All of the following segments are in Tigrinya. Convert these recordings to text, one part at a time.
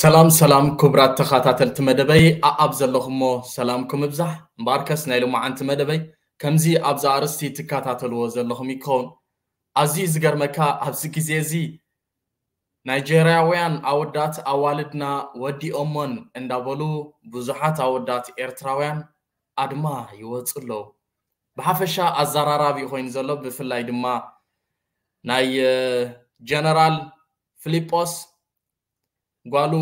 ሰላም ሰላም ክቡራት ተኸታተልቲ መደበይ፣ ኣኣብ ዘለኹሞ ሰላምኩም ይብዛሕ። እምበኣርከስ ናይ ሎማዓንቲ መደበይ ከምዚ ኣብዚ ኣርእስቲ ትከታተልዎ ዘለኹም ይከውን። ኣዝዩ ዝገርመካ፣ ኣብዚ ግዜ እዚ ናይጀርያውያን ኣወዳት ኣዋልድና ወዲኦሞን እንዳበሉ ብዙሓት ኣወዳት ኤርትራውያን ኣድማ ይወፁ ኣለዉ። ብሓፈሻ ኣዘራራቢ ኮይኑ ዘሎ፣ ብፍላይ ድማ ናይ ጀነራል ፊሊጶስ ጓሉ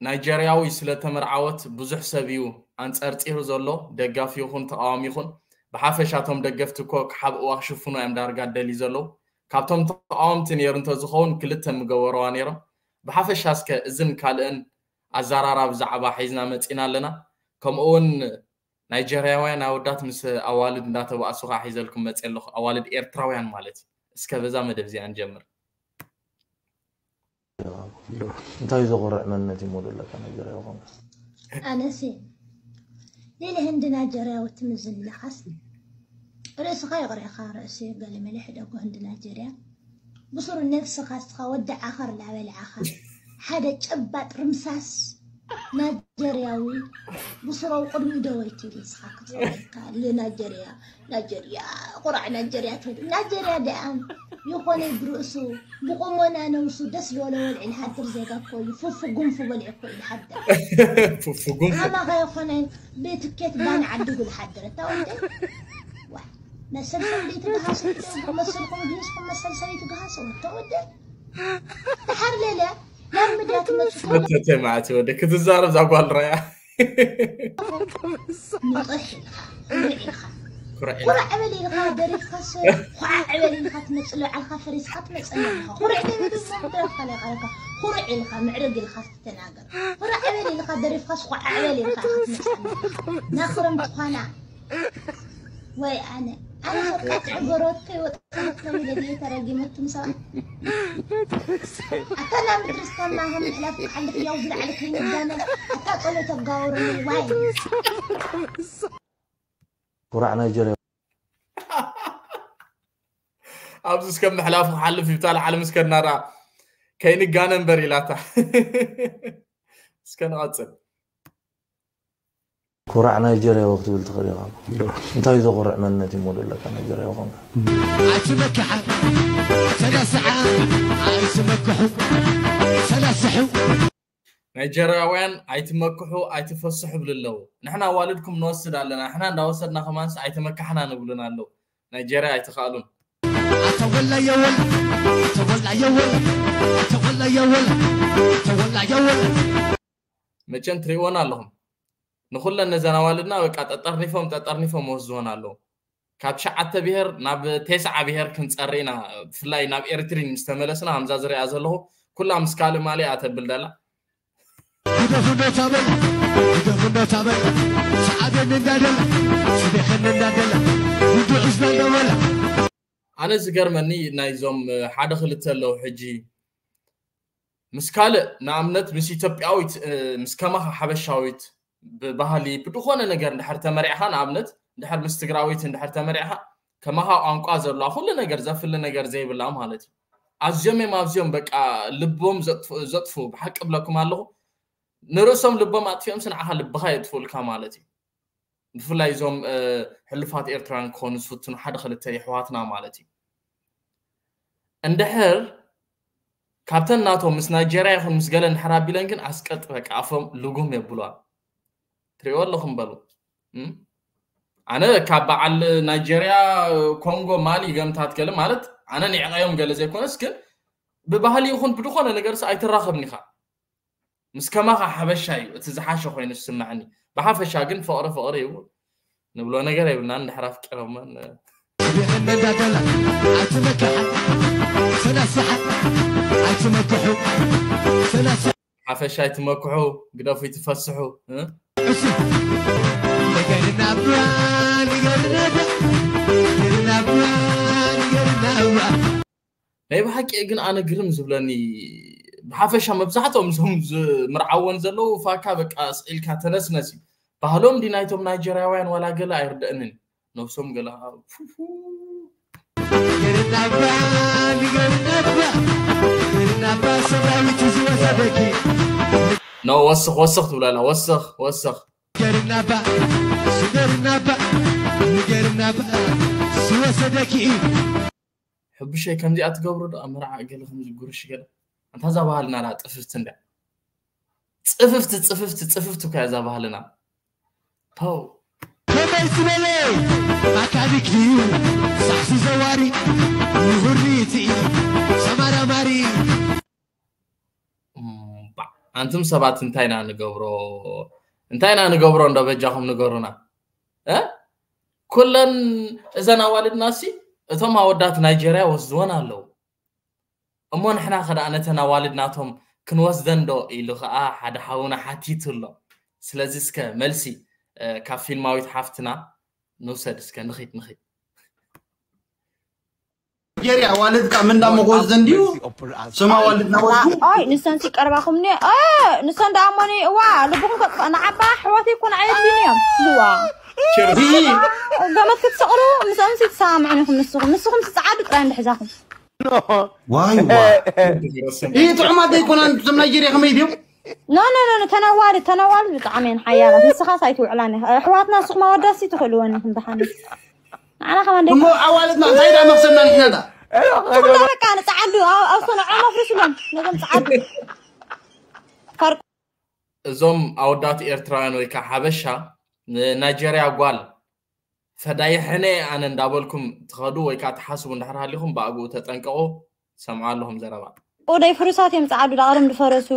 ናይጀርያዊ ስለተመርዓወት ብዙሕ ሰብ እዩ ኣንጸርጺሩ ዘሎ፣ ደጋፊ ይኹን ተቓዋሚ ይኹን። ብሓፈሻ እቶም ደገፍቲ እኮ ክሓብእዋ ክሽፍኑ እዮም ዳርጋ ደልዩ ዘለዉ። ካብቶም ተቓወምቲ ነይሩ እንተዝኸውን ክልተ ምገበርዋ ነይሮም። ብሓፈሻ እስከ እዝን ካልእን ኣዘራራቢ ዛዕባ ሒዝና መጺና ኣለና። ከምኡ እውን ናይጀርያውያን ኣወዳት ምስ ኣዋልድ እንዳተባእሱ ከዓ ሒዘልኩም መጺአ ኣለኹ። ኣዋልድ ኤርትራውያን ማለት እዩ። እስከ በዛ መደብ እዚኣ ንጀምር። እንታይ ዘኹርዕ መንነት እዩ ሞደለካ ናይጀርያ ይኾን? ኣነሲ ሌለ ህንዲ ናይጀርያዊ ትምዝን ለኻስ ርእስኻ ይቕሬኻ ርእሲ ገለመለ ሕደጎ ህንዲ ናይጀርያ ብስሩ ነብስኻ እስኻ ወዲ ዓኸር ላበልዓኻ ሓደ ጨባጥ ርምሳስ ናይጀርያዊ ብስሮው ቅድሚኡ ደወይቲ ኢሉ ንስኻ ክትፈልካ ልናይጀርያ ናይጀርያ ቁራዕ ናይጀርያ ትብል ናይጀርያ ደኣ ይኾነ ብርእሱ ብቁመና ነብሱ ደስ ዝበለ ወልዒ ልሓድር ዜጋ እኮ እዩ ፉፉ ጉንፉ በሊዑ እኮ እዩ ልሓድር ፉፉ ጉንፉ ኣማኻ ይኾነ ብትኬት ባን ዓዲጉ ልሓድር እታ ወደ ዋ መሰልኩም ደይትገሃሱ መሰልኩም ሂዝኩም መሰል ሰበይቲ ገሃሱ እታ ወደ ተሓርለለ ናብ ምድያ ትመጽእ መተተ ማለት ወደ ክትዛረብ ዛጓል ራያ ንቕሕ ኢልካ ኩርዕ ኢልካ ኩርዕ ኢልካ ኩርዕ ዕበል ኢልካ ደሪፍካስ ኳዕ ዕበል ኢልካ ትመፅእ ልባዕልካ ፈሪስካ ትመፀና ኢኻ ኩርዕ ደበል እሞ ምድረፍካ ለቃለካ ኩርዕ ኢልካ ምዕርግ ኢልካ ትተናገር ኩርዕ ዕበል ኢልካ ደሪፍካስ ኳዕ ዕበል ኢልካ ኢኻ ትመፀና ኢኻ ናክረምቲ ኳና ወይ ኣነ ኣነ ሰብካ ጥዕጎሮትከይ ወጥተትከሚ ለድየ ተረጊመትም ሰባት ኣታ ናብ ምድሪ ስታማ ከም ምሕላፍ ክሓልፍ ያው ዝለዓለ ከይንጋነ ኣታ ጸሎት ኣጋወሩኒ ዋይ ኩራዕ ናይጀርያ ኣብዚ እስከ ምሕላፉ ክሓልፍ ይብታ ልዓለም እስከ እናዳ ከይንጋነ እምበር ኢላታ እስከ ንቐፅል ኩራዕ ናይጀርያዊ ክትብል ትኽእል ኢኻ እንታይ ዘኹርዕ መንነት እዩ ሞደለካ ናይጀርያዊ ኾንካ ኣይትመክሓ ተነስዓ ኣይትመክሑ ተነስሑ ናይጀርያውያን ኣይትመክሑ ኣይትፈስሑ ይብሉ ኣለዉ ንሕና ኣዋልድኩም ንወስድ ኣለና ንሕና እንዳወሰድና ከማንስ ኣይተመካሕና ንብሉን ኣለዉ ናይጀርያ ኣይትኽኣሉን ተወላየወል ተወላየወል ተወላየወል ተወላየወል መቸም ትሪእዎን ኣለኹም ንኩለን ነዘን ኣዋልድና በቃ ጠጠርኒፎም ጠጠርኒፎም ወስድዎን ኣለዉ ካብ ትሽዓተ ብሄር ናብ ቴስዓ ብሄር ክንፀሪ ኢና ብፍላይ ናብ ኤርትሪን ምስ ተመለስና ከምዛ ዝሪኣ ዘለኹ ኩላ ምስ ካልእ ማልያ ተብል ደላ ግደፉ እንዳታበል ግደፉ እንዳታበል ሰዓበኒ እንዳደላ ስደኸኒ እንዳደላ ውዱ ዕዝና እንዳበላ ኣነ ዝገርመኒ ናይዞም ሓደ ክልተ ኣለዉ ሕጂ ምስ ካልእ ንኣብነት ምስ ኢትዮጵያዊት ምስ ከማኻ ሓበሻዊት ብባህሊ ብድኾነ ነገር እንድሕር ተመሪዕኻ ንኣብነት እንድሕር ምስ ትግራዊት እንድሕር ተመሪዕኻ ከማኻ ቋንቋ ዘለዋ ኩሉ ነገር ዘፍሊ ነገር ዘይብላ ማለት እዩ ኣዝዮም እዮም ኣብዚኦም በቃ ልቦም ዘጥፉ ብሓቂ ብለኩም ኣለኹ ንርእሶም ልቦም ኣጥፊኦምስ ንዓኻ ልብኻ የጥፍኡልካ ማለት እዩ ብፍላይ እዞም ሕሉፋት ኤርትራውያን ክኾኑ ዝፍትኑ ሓደ ክልተ የሕዋትና ማለት እዩ እንድሕር ካብተን ናቶም ምስ ናይጀርያ ይኹን ምስ ገለ እንድሕር ኣቢለን ግን ኣስቀጥ በቃ ኣፎም ልጉም የብሏል ትሪእዎ ኣለኹም በሉ ኣነ ካብ በዓል ናይጀርያ ኮንጎ ማሊ ገምታት ገለ ማለት ኣነ ንዕቀዮም ገለ ዘይኮነስ ግን ብባህሊ ይኹን ብድኾነ ነገርስ ኣይትራኸብን ኢኻ ምስ ከማኻ ሓበሻ እዩ እቲ ዝሓሸ ኮይኑ ዝስምዐኒ ብሓፈሻ ግን ፍቕሪ ፍቕሪ እዩ ንብሎ ነገር የብልና እንድሕር ኣፍቂሮመን እንዳደላ ኣይትመክሓ ተነስሓ ኣይትመክሑ ተነስ ሓፈሻ ኣይትመክሑ ግደፉ ይትፈስሑ እሺ ንገርና እባ ንገርና እባ ንገርና እባ ንገርና እባ ናይ ብሓቂ ግን ኣነ ግርም ዝብለኒ ብሓፈሻ መብዛሕትኦም እዞም ዝምርዓወን ዘለዉ ፋካ በቃ ስዒልካ ተነስነስ እዩ ባህሎም ዲ ናይቶም ናይጀርያውያን ዋላ ገለ ኣይርደእንን ነብሶም ገለ ገርናባ ገርናባ ገርናባ ሰራዊት ዝወሰደኪ ኖ፣ ወስኽ ወስኽ ትብለላ፣ ወስኽ ወስኽ። ገርናባ ስገርናባ ገርናባ ስወሰደኪ ሕቡሸይ ከምዚኣ ትገብሩ ዶ ኣብ መርዓ ገለ ከምዚ ጉርሽ ገለ? ኣንታ እዛ ባህልና ዳ ጥፍፍቲ እንዳ ጽፍፍቲ ጽፍፍቲ ጽፍፍቲ እኳ እያ እዛ ባህልና። ፓው። ከመይ ዝበለ ኣካቢክ ድዩ ሳሕሲ ዘዋሪ ንሁሪቲ ሰማራማሪ እምባዕ፣ ኣንቱም ሰባት እንታይ ኢና ንገብሮ? እንታይ ኢና ንገብሮ እንዶ በጃኹም ንገሩና። እ? ኩለን እዘን ኣዋልድና ሲ እቶም ኣወዳት ናይጀርያ ወስድወን ኣለዉ። እሞ ንሕና ከደኣ ነተን ኣዋልድ ናቶም ክንወስደን ዶ ኢሉ ከኣ ሓደ ሓውና ሓቲቱ ኣሎ። ስለዚ እስከ መልሲ እ፣ ካብ ፊልማዊት ሓፍትና ንውሰድ እስከ። ንኺድ ንኺድ። ጀሪ ኣዋልድ ካብ ምንዳ መጎዝ ዘንድዩ ስም ኣዋልድ ናወቱ ኣይ ንሰን ሲ ቀርባኹምኒ ንሰን ደኣ እሞኒ እዋ ልብኹም ከጥፋእ ንዓባ ኣሕዋተይ ኮን ኣየድልዩን እዮም እዋ ቸርስ። ገመድ ክትሰቕሉ ምስኦም ሲ ትሰማምዑን ኢኹም ንስኹም ንስኹም ሲ ጸዓዱ ጥራይ እንድሕዛኹም ዋይ ዋ ይህ ጥዑማት ዘይኮናን እዞም ናይጀርያ ከመይ ድዮም ኖ ኖ ኖ ተነዋሪ ተነዋሪ ብጣዕሚ እየን ሓያላት ንስኻስ ኣይትውዕላን ኢኻ ኣሕዋትና ንስኹም ኣወዳሲ ትኽእልወን ኢኹም ደሓን ንዓና ከማን ደቂ እሞ ኣዋልድና እንታይ ዳ መክሰብና ንሕና ዳ ኩሎ በቃ ንጸዓዱ ኣብ- ኣብሶ ንዖም ኣፍርስሎም ነዞም ጸዓዱ ፈርቁ እዞም ኣወዳት ኤርትራውያን ወይ ከዓ ሓበሻ ንናይጀርያ ጓል ፈዳይሐነ ኣነ እንዳበልኩም ትኸዱ ወይ ከዓ ትሓስቡ እንድሕር ሃሊኹም ብኣግኡ ተጠንቀቑ። ሰምዑ ኣለኹም ዘረባ። ኦደይ ፍሩሳት እዮም ጸዓዱ ዳቕርም ዝፈረሱ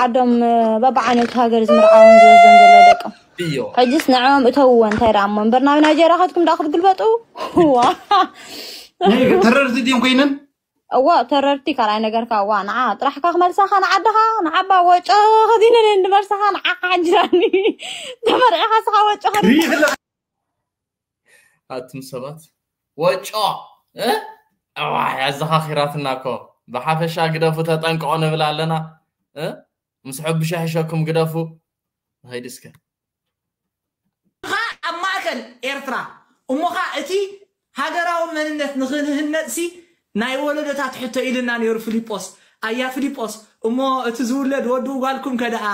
ዓዶም በብዓይነቱ ሃገር ዝምርዓውን ዝወስዶም ዘሎ ደቆም እዮ ሕጅስ ንዕኦም እተውዎ እንታይ ደኣ እሞ እምበር ናብ ናይጀርያ ከድኩም ደኣ ክትግልበጡ ዋ ተረርቲ ድዮም ኮይነን እዋ ተረርቲ ካልኣይ ነገርካ እዋ ንዓ ጥራሕካ ክመልሳኻ ንዓድኻ ንዓባ ወጮ ከዚነ ንመልሳኻ ንዓኻ ሓንጅራኒ ተመርዒኻ ስኻ ወጮ ከዲ ኣቱም ሰባት ወጮ እ? ኣዋይ ኣዘኻኺራትና እኮ። ብሓፈሻ ግደፉ ተጠንቀቑ ንብል ኣለና እ? ምስ ሕቡሸ ሕሸኩም ግደፉ። ንኸይድ እስከ ኣብ ማእከል ኤርትራ እሞኻ እቲ ሃገራዊ መንነት ንኽንህነጽሲ ናይ ወለዶታት ሕቶ ኢልና ነይሩ ፊሊጶስ ኣያ ፊሊጶስ እሞ እቲ ዝውለድ ወዲ ጓልኩም ከደኣ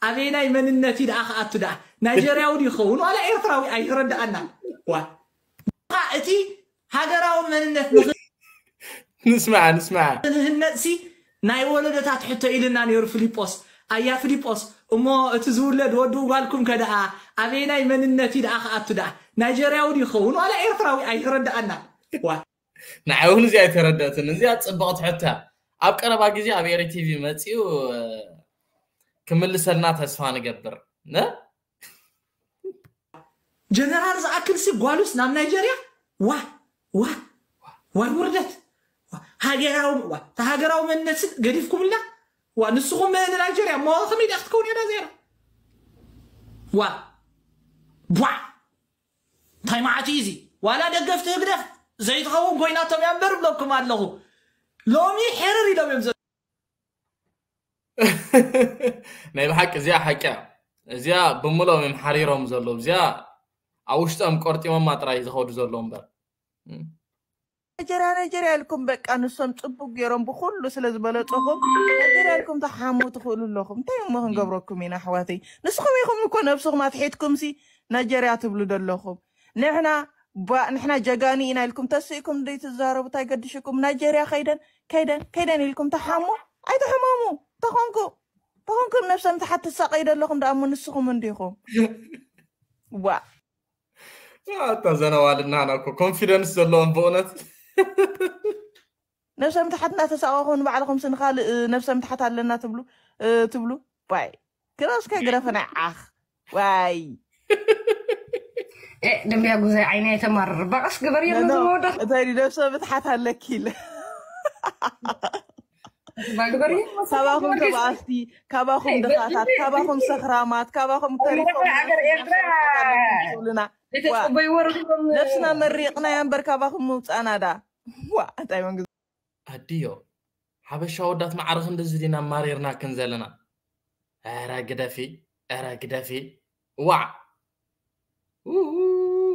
ኣበይናይ መንነት እዩ ደኣ ክኣቱ ደኣ ናይጀርያዊ ድዩ ይኸውን ዋላ ኤርትራዊ ኣይተረድኣና ዋ እቲ ሃገራዊ መንነት ንስማዕ ንስማዕ ንህነጽሲ ናይ ወለዶታት ሕቶ ኢልና ነይሩ ፊሊጶስ ኣያ ፊሊጶስ እሞ እቲ ዝውለድ ወዲ ጓልኩም ከደኣ ኣበይናይ መንነት እዩ ደኣ ክኣቱ ደኣ ናይጀርያዊ ድዩ ይኸውን ዋላ ኤርትራዊ ኣይተረድኣና ዋ ንዓይ እውን እዚኣ ኣይተረደእትን። እዚኣ ጽብቕቲ ሕቶ እያ። ኣብ ቀረባ ግዜ ኣብ ኤሪ ቲቪ መጺኡ እ፣ ክምልሰልና ተስፋ ንገብር። ነ ጀነራል ዝኣክል ሲ ጓሉስ ናብ ናይጀርያ ዋ ዋ ዋይ ውርደት ዋ፣ ሃገራዊ ዋ፣ እቲ ሃገራዊ መንነት ሲ ገዲፍኩምልና ዋ ንስኹም ንናይጀርያ እሞ ከመይ ዳ ክትከውን እያ ዳ ዜራ ዋ ቧዕ እንታይ ማዓት እዩ እዚ ዋላ ደገፍቲ ህግደፍ ዘይትኸውን ኮይናቶም እያ እምበር ብለኩም ኣለኹ ሎሚ ሕርር ኢሎም እዮም ዘ- ናይ ብሓቂ እዚኣ ሓቂ እያ። እዚኣ ብምሎም እዮም ሓሪሮም ዘለዉ። እዚኣ ኣብ ውሽጦም ቆርጢሞማ ጥራይ ዝኸዱ ዘለዉ እምበር። ናይጀርያ ናይጀርያ ኢልኩም በቃ ንሶም ፅቡቅ ገይሮም ብኩሉ ስለ ዝበለፅኹም ናይጀርያ ኢልኩም ተሓሙ ትኽእሉ ኣለኹም እንታይ እሞ ክንገብረኩም ኢና ኣሕዋተይ ንስኹም ኢኹም እኮ ነብስኹም ኣትሒትኩም ሲ ናይጀርያ ትብሉ ዘለኹም ንሕና ባ ንሕና ጀጋኑ ኢና ኢልኩም ተስኢኩም ደይ ትዛረቡ እንታይ ገድሽኩም ናይጀርያ ከይደን ከይደን ከይደን ኢልኩም ተሓሙ ኣይትሕመሙ ተኾንኩም ተኾንኩም ነብሰ ምትሓት ትሳቀዩ ዘለኹም ደኣ እሞ ንስኹም እንዲኹም ዋ ኣታ ዘነዋልድና ና እኮ ኮንፊደንስ ዘለዎም ብእውነት ነብሰ ምትሓት እናተሳቀኹም ንባዕልኹም ሲ ንኻልእ ነብሰ ምትሓት ኣለና ትብሉ እ፣ ትብሉ ዋይ ግረስከ ግረፈና ዓኽ ዋይ ደንብያ ጉዛይ ዓይኒ ኣይተማርር ባቀስ ግበርዮ ነዚ መወዳት እንታይ ድዩ ነብሰ ምትሓት ኣለኪ ኢለ ባግበርዮ ካባኹም ተባኣስቲ ካባኹም ድኻታት ካባኹም ሰኽራማት ካባኹም ተሪፎም ሃገር ኤርትራ ትብሉና ዘይተጸበይዎ ረኺቦም ነብስና መሪቕና እያ እምበር ካባኹም ምውፃእና ዳ ዋ እንታይ መንግስቲ ኣድዮ ሓበሻ ወዳት ማዕረ ክንድዚ ዲና ማሪርናክን ዘለና ኧረ ግደፊ ኧረ ግደፊ ዋዕ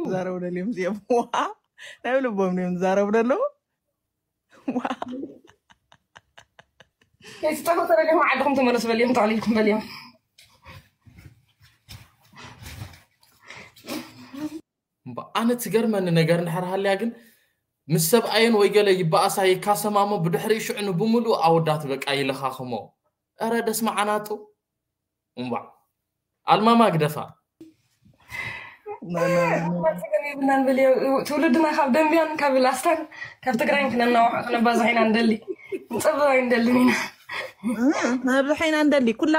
ዝዛረቡ ደልዮም እዚኦም ዋ ናይ ልቦም እዮም ዝዛረቡ ደለዉ ከይትጠፉ ተበልዮም ዓድኹም ተመለሱ በልዮም ተቕሊልኩም በልዮም ኣነ ትገርመኒ ነገር እንድሕር ሃልያ ግን ምስ ሰብኣየን ወይ ገለ ይበኣሳ ይካሰማ እሞ ብድሕሪ ሽዑ ንብምሉእ ኣወዳት በቃ ይለኻኽሞ። ኧረ ደስ መዓናጡ። እምባዕ ኣልማማ ግደፋ። ትውልድና ካብ ደንቢያን ካብ ላስታን ካብ ትግራይን ክነናውሖ ክነባዝሖ ኢና ንደሊ። ንፀብብ ኣይንደልን ኢና። ነብዝሖ ኢና ንደሊ። ኩላ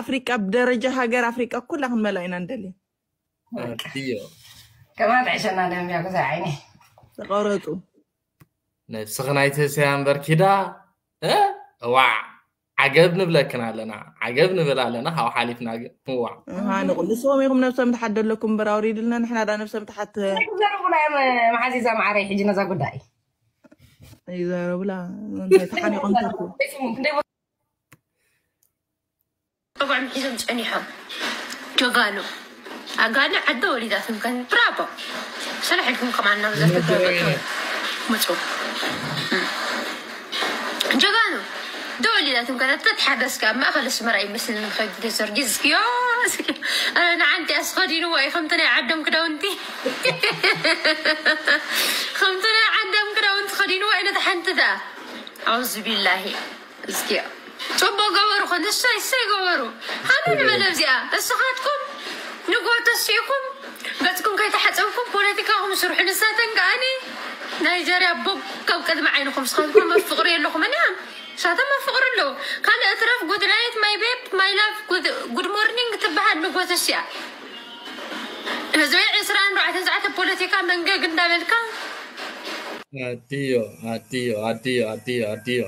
ኣፍሪቃ ብደረጃ ሃገር ኣፍሪቃ ኩላ ክንመልኣ ኢና ንደሊ። እዮ ከማን ጥዕሸና ደንቢያ ጉዛይ ዓይኒ። ተቐረፁ። ነብስኺ ናይ ተሰያ እምበር ኪዳ። እ? እዋዕ ዓገብ ንብለክን ኣለና፣ ዓገብ ንብል ኣለና። ካብ ሓሊፍና ግን እዋዕ ሃንቑ ንስኹም ኢኹም ነብሰ ምትሓት ደለኩም እምበር ኣውሪድልና፣ ንሕና ዳ ነብሰ ምትሓት ዘረቡላ እዮም። መሓዚዛ ማዓረይ ሕጂ ነዛ ጉዳይ ይዘረቡላ እንታይ ተሓኒቆም ተርፉ። ስሙ ክንደይ ጠጓዕም ሒዞም ጸኒሖም። ጀጋኑ ኣጋለ ዓደ ወሊዳትም ከን ብራቦ ሰላሕ ኢልኩም ከማን ናብ ዘተ ምጹ ጀጋኑ ደወሊዳትም ከን ተትሓገዝካ ኣብ ማእኸል ኣስመራ ይመስል ንኸይድ ጊዮርጊስ ዮ ንዓንቲ ኣስኸዲንዎ እዩ ከምቲ ናይ ዓዶም ክዳውንቲ ከምቲ ናይ ዓዶም ክዳውንቲ ኸዲንዎ እዩ ነቲ ሓንቲ ደኣ ኣውዝ ቢላሂ እስኪ ጽቡቅ ገበሩ ኮን እሰይ እሰይ ገበሩ ሃመን በለ እዚኣ እስኻትኩም ንጎ ተሲእኩም ገጽኩም ከይተሓጸብኩም ፖለቲካኹም ስርሑ ንሳተን ከኣኒ ናይጀርያ ቦግ ካብ ቅድሚ ዓይንኹም ስኻትኩም መፍቅሪ የለኹም እና ሳተን መፍቅሪ ኣለዉ ካልእ እትረፍ good night my babe my love good morning ትበሃል ንጎ ተሲኣ ህዝቢ ዕስራን ኣርባዕተን ሰዓት ፖለቲካ መንገግ እንዳበልካ ኣድዮ ኣድዮ ኣድዮ ኣድዮ ኣድዮ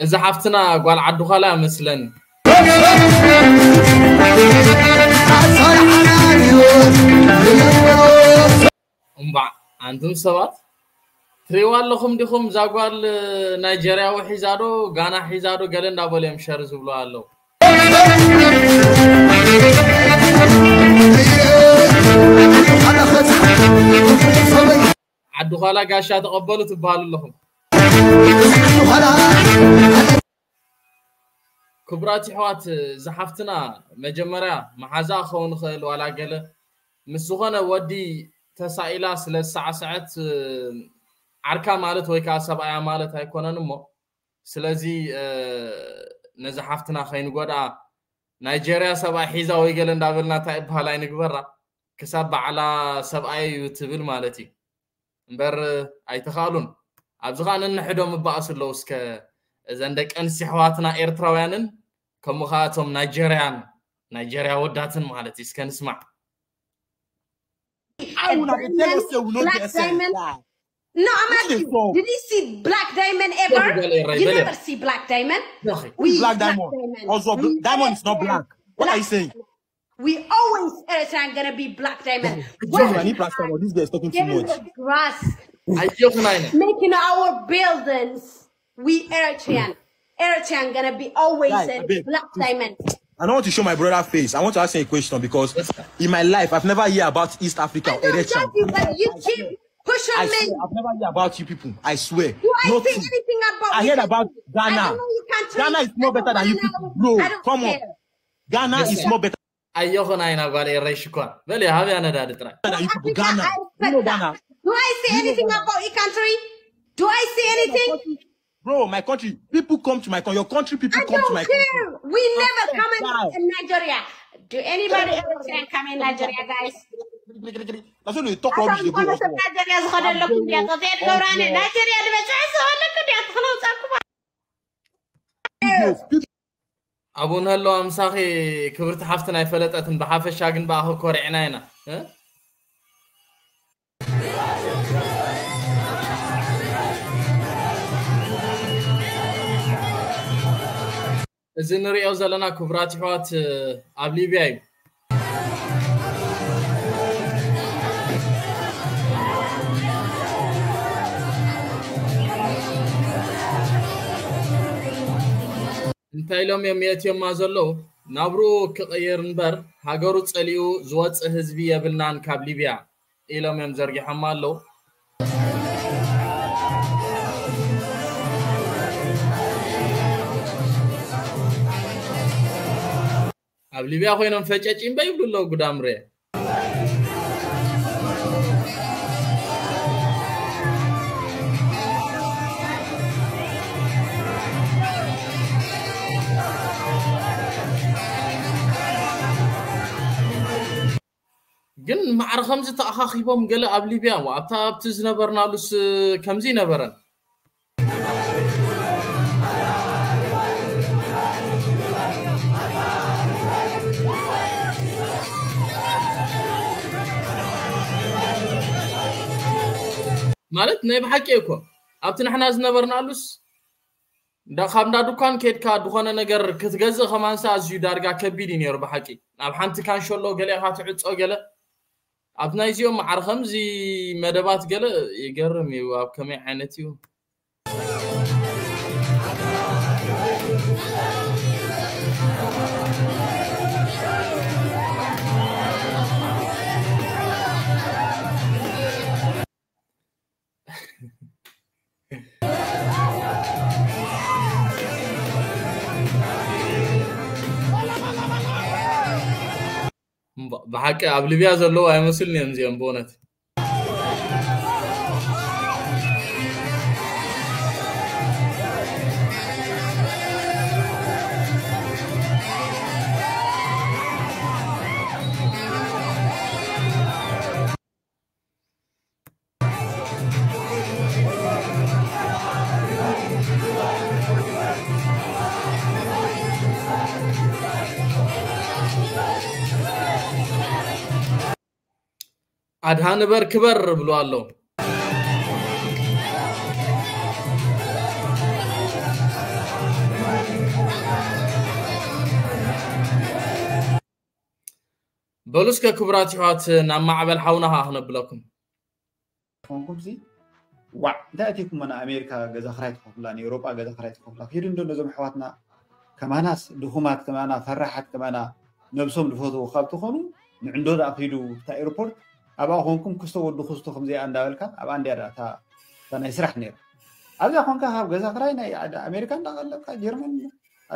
እዚ ሓፍትና ጓል ዓዲ ዃላ መስለን እምባዕ ኣንቱም ሰባት ትሪእዋ ኣለኹም ዲኹም እዛ ጓል ናይጀርያዊ ሒዛዶ ጋና ሒዛዶ ገለ እንዳበሉ እዮም ሸር ዝብሉ ኣለዉ ዓዲ ዃላ ጋሻ ተቐበሉ ትበሃሉ ኣለኹም ክቡራት ይሕዋት ዝሓፍትና መጀመርያ መሓዛ ክኸውን ይኽእል ዋላ ገለ ምስ ዝኾነ ወዲ ተሳኢላ ስለ ዝሰዓሰዐት ዓርካ ማለት ወይ ከዓ ሰብኣያ ማለት ኣይኮነን እሞ ስለዚ ነዚ ሓፍትና ከይንጎድኣ ናይጀርያ ሰብኣይ ሒዛ ወይ ገለ እንዳበልና እንታይ ይበሃል ኣይንግበራ ክሳብ ባዕላ ሰብኣየ እዩ ትብል ማለት እዩ እምበር ኣይተኻእሉን ኣብዚ ከዓ ነንሕዶም እበኣሱ ኣለዉ እስከ እዘን ደቂ ኣንስትዮ ኣሕዋትና ኤርትራውያንን ከምኡ ከዓ እቶም ናይጀርያን ናይጀርያ ወዳትን ማለት እዩ እስከ ንስማዕ I will not tell us say we no get sense. No, I'm asking you, did you see Black Diamond ever? You never see Black Diamond. We black diamond. Also, diamond is not black. What are you saying? We always Eritrean gonna be Black Diamond. Johnny Black Diamond, this guy is talking too much. Grass. Ayokunayna. Making our buildings. We Eritrean. Eritrean gonna be always Guys, a abeg, Black please. Diamond. I don't want to show my brother face. I want to ask him a question because in my life, I've never hear about East Africa I or don't Eritrea. judge you, but you keep pushing I me. swear, I've never hear about you people. I swear. Do I Nothing. say anything about I you heard people? about I Ghana. don't know you can't Ghana tell is more me. Better than you people, bro. I don't Come on. care. Ghana is more better. Ayokunayna ጓል ኤረይ ሽኮር በል ሃብያ ነዳዲ ጥራይ Than you people. Africa, Ghana. I You know respect that. Ghana. Do I say anything about your country? Do I say anything? Bro, my country, people come to my country. Your country, people I come to don't my care. country. We never come in, Guys. in Nigeria. Do anybody ever say come in Nigeria, guys? That's what they talk rubbish. They go Some also. Nigeria is got a look in there. Go there, go around it. Nigeria, the best. I saw look at that. Hello, Sakuba. People, people ኣብኡ ንህለዋ ምሳኺ ክብርቲ ሓፍትን ኣይፈለጠትን ብሓፈሻ ግን ብኣኺ ኮሪዕና ኢና እ? እዚ ንሪኦ ዘለና ክቡራት ኣሕዋት ኣብ ሊብያ እዩ እንታይ ኢሎም እዮም የእትዮማ ዘለዉ ናብርኡ ክቕይር እምበር ሃገሩ ጸሊኡ ዝወጽእ ህዝቢ የብልናን ካብ ሊብያ ኢሎም እዮም ዘርጊሖማ ኣለዉ ኣብ ሊብያ ኮይኖም ፈጨጭ እምበ ይብሉ ኣለዉ ጉዳምሬ። ግን ማዕረ ከምዚ ተኣኻኺቦም ገለ ኣብ ሊብያ፣ ኣብታ ኣብቲ ዝነበርናሉስ ከምዚ ይነበረን። ማለት ናይ ብሓቂ እኮ ኣብቲ ንሕና ዝነበርናሉስ እንዳ ካብ እንዳ ድኳን ከድካ ዝኾነ ነገር ክትገዝእ ከማንሳ ኣዝዩ ዳርጋ ከቢድ እዩ ነይሩ ብሓቂ። ናብ ሓንቲ ካንሸሎ ገለ ኢኻ ትዕጾ ገለ። ኣብ ናይዚኦም ማዕረ ከምዚ መደባት ገለ ይገርም እዩ። ኣብ ከመይ ዓይነት እዩ? ብሓቂ ኣብ ሊብያ ዘለዉ ኣይመስልን እዮም እዚኦም ብእውነት። ኣድሃ ንበር ክበር ብሉ ኣለዉ። በሉ እስከ ክቡራት ይሕዋት ናብ ማዕበል ሓውና ኸዓ ክነብለኩም። ኮንኩም ሲ ዋዕ እንታይ ኣቲኩም ና ኣሜሪካ ገዛ ክራይ ትኸፍላ ንኤውሮጳ ገዛ ክራይ ትኸፍላ ኪዱ እንዶ ነዞም ኣሕዋትና ከማናስ ድኹማት ከማና ፈራሓት ከማና ነብሶም ዝፈትዉ ካብ ትኾኑ ንዕንዶ ደኣ ኪዱ እታ ኤርፖርት ኣብኣ ኮንኩም ክስቶ ወዲ ክስቶ ከምዚኣ እንዳበልካ ኣብኣ እንዲያ ደኣ እታ እታ ናይ ስራሕ ነይራ ኣብዚኣ ኮንካ ካብ ገዛ ክራይ ናይ ኣሜሪካ እንዳቐለብካ ጀርመን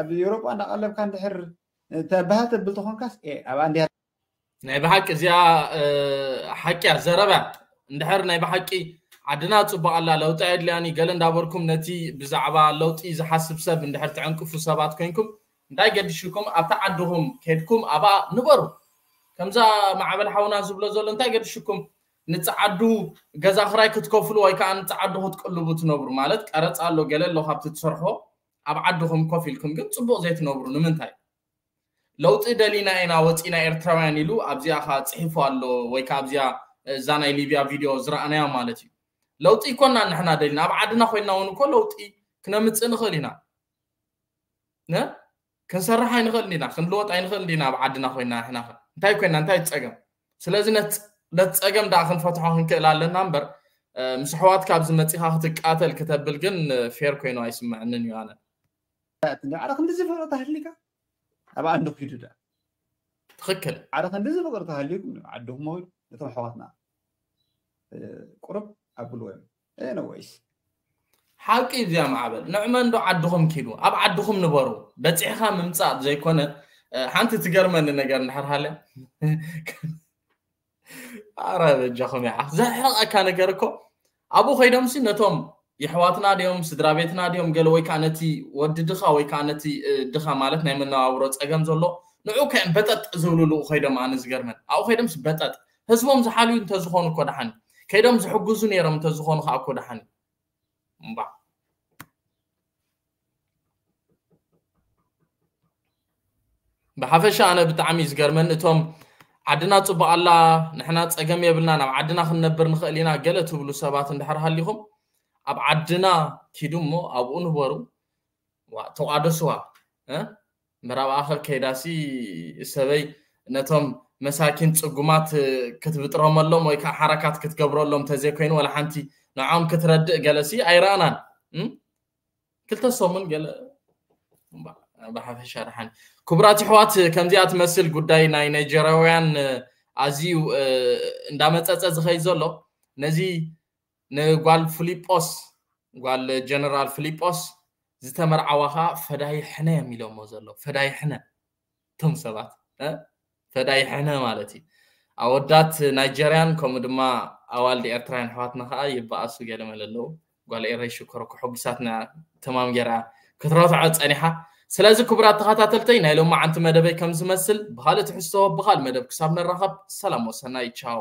ኣብ ኤውሮጳ እንዳቐለብካ እንድሕር ተባሃል ተብል ተኾንካስ ኣብኣ እንዲያ ናይ ብሓቂ እዚኣ ሓቂያ ዘረባ እንድሕር ናይ ብሓቂ ዓድና ፅቡቅ ኣላ ለውጢ ኣየድልያኒ ገለ እንዳበርኩም ነቲ ብዛዕባ ለውጢ ዝሓስብ ሰብ እንድሕር ትዕንቅፉ ሰባት ኮይንኩም እንታይ ገድሽኩም ኣብታ ዓድኹም ከድኩም ኣብኣ ንበሩ ከምዛ ማዕበል ሓውና ዝብሎ ዘሎ እንታይ ገድሽኩም ንፀዓዱ ገዛ ክራይ ክትከፍሉ ወይ ከዓ ንፀዓዱ ክትቅልቡ ትነብሩ ማለት ቀረፃ ኣሎ ገለ ኣሎ ካብቲ ትሰርሖ ኣብ ዓድኹም ኮፍ ኢልኩም ግን ፅቡቅ ዘይትነብሩ ንምንታይ ለውጢ ደሊና ኢና ወፂና ኤርትራውያን ኢሉ ኣብዚኣ ከዓ ፅሒፉ ኣሎ ወይ ከዓ ኣብዚኣ እዛ ናይ ሊብያ ቪድዮ ዝረኣናያ ማለት እዩ ለውጢ ይኮና ንሕና ደሊና ኣብ ዓድና ኮይንና እውን እኮ ለውጢ ክነምፅእ ንኽእል ኢና ክንሰርሕ ኣይንኽእል ኢና ክንልወጥ ኣይንኽእል ኢና ኣብ ዓድና ኮይንና ንሕና እንታይ ኮይንና እንታይ ፀገም ስለዚ ነቲ ፀገም ደኣ ክንፈትሖ ክንክእል ኣለና እምበር ምስ ኣሕዋትካ ኣብዚ መፂኻ ክትቃተል ክተብል ግን ፌር ኮይኑ ኣይስምዐንን እዩ ኣነ ዓረ ክንድዚ ፍቕሪ ተሃሊካ ኣብኣ እንዶ ኪዱ ደኣ ትኽክል ዓረ ክንድዚ ፍቕሪ ተሃሊኩም ዓድኹም ሆይ ነቶም ኣሕዋትና ቁርብ ኣብልዎ እዮም ኤነወይስ ሓቂ እዚኣ ማዕበል ንዕመ እንዶ ዓድኹም ኪዱ ኣብ ዓድኹም ንበሩ በፂሕኻ ምምፃእ ዘይኮነ ሓንቲ ትገርመኒ ነገር እንድሕር ሃለ ኣረ በጃኹም ይዓ ዘሕረቐካ ነገር እኮ ኣብኡ ከይዶምሲ ነቶም የሕዋትና ድዮም ስድራ ቤትና ድዮም ገለ ወይ ከዓ ነቲ ወዲ ድኻ ወይ ከዓ ነቲ ድኻ ማለት ናይ መነባብሮ ፀገም ዘሎ ንዑ ከ በጠጥ ዝብልሉ ከይዶም ኣነ ዝገርመን ኣብኡ ከይዶምሲ በጠጥ ህዝቦም ዝሓልዩ እንተዝኾኑ እኮ ደሓን ከይዶም ዝሕግዙ ነይሮም እንተዝኾኑ ከዓ እኮ ደሓን እምባ ብሓፈሻ ኣነ ብጣዕሚ ዝገርመን እቶም ዓድና ፅቡቅ ኣላ ንሕና ፀገም የብልና ናብ ዓድና ክንነብር ንኽእል ኢና ገለ ትብሉ ሰባት እንድሕር ሃሊኹም ኣብ ዓድና ኪዱ እሞ ኣብኡ ንበሩ ተቋደስዋ ምዕራብ ኣኸ ከይዳሲ ሰበይ ነቶም መሳኪን ፅጉማት ክትብጥረመሎም ወይ ከዓ ሓረካት ክትገብረሎም ተዘይኮይኑ ወላ ሓንቲ ንዖም ክትረድእ ገለሲ ኣይረኣናን ክልተ ሰሙን ገለ ብሓፈሻ ደሓን ክቡራት ይሕዋት ከምዚኣ ትመስል ጉዳይ ናይ ናይጀርያውያን ኣዝዩ እንዳመፀፀ ዝኸይ ዘሎ ነዚ ንጓል ፍሊጶስ ጓል ጀነራል ፍሊጶስ ዝተመርዓዋ ከዓ ፈዳይ ሕነ እዮም ኢሎሞ ዘሎ ፈዳይ ሕነ እቶም ሰባት ፈዳይሕነ ማለት እዩ። ኣወዳት ናይጀርያን ከምኡ ድማ ኣዋልድ ኤርትራውያን ኣሕዋትና ከዓ ይበኣሱ ገለ መለ ኣለዉ። ጓል ኤረይ ሽኮር እኮ ሕጉሳትና ተማም ገይራ ክትረትዖ ጸኒሓ። ስለዚ ክቡራት ተኸታተልተይ ናይ ሎማዓንቲ መደበይ ከም ዝመስል ብኻልእ ትሕዝቶ ብኻልእ መደብ ክሳብ ንራኸብ ሰላም ወሰናይ ቻው።